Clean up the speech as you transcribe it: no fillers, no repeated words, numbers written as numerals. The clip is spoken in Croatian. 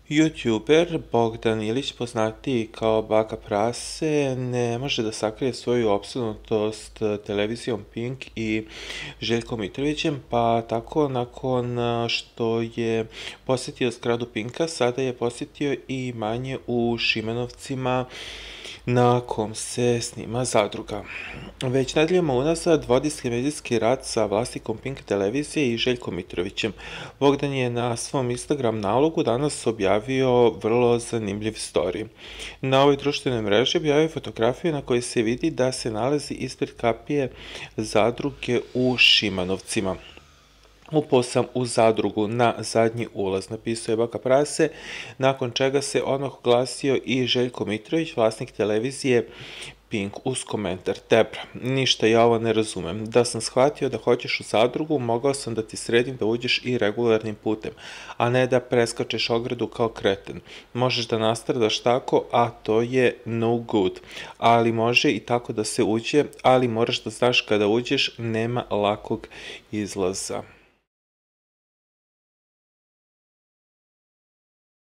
YouTuber Bogdan Ilić, poznatiji kao Baka Prase, ne može da sakrije svoju opsednutost televizijom Pink i Željkom Mitrovićem, pa tako nakon što je posjetio zgradu Pinka, sada je posjetio i imanje u Šimanovcima na kom se snima Zadruga. Već nedeljama unazad vodi se medijski rat sa vlasnikom Pink televizije i Željkom Mitrovićem. Bogdan je na svom Instagram nalogu danas objavio vrlo zanimljiv story. Na ovoj društvenoj mreži objavio fotografiju na kojoj se vidi da se nalazi ispred kapije Zadruge u Šimanovcima. Upao sam u Zadrugu na zadnji ulaz, napisao je Baka Prase, nakon čega se odmah oglasio i Željko Mitrović, vlasnik televizije Pink, uz komentar: Debra, ništa ja ovo ne razumem. Da sam shvatio da hoćeš u Zadrugu, mogao sam da ti sredim da uđeš i regularnim putem, a ne da preskačeš ogradu kao kreten. Možeš da nastradaš tako, a to je no good. Ali može i tako da se uđe, ali moraš da znaš kada uđeš, nema lakog izlaza.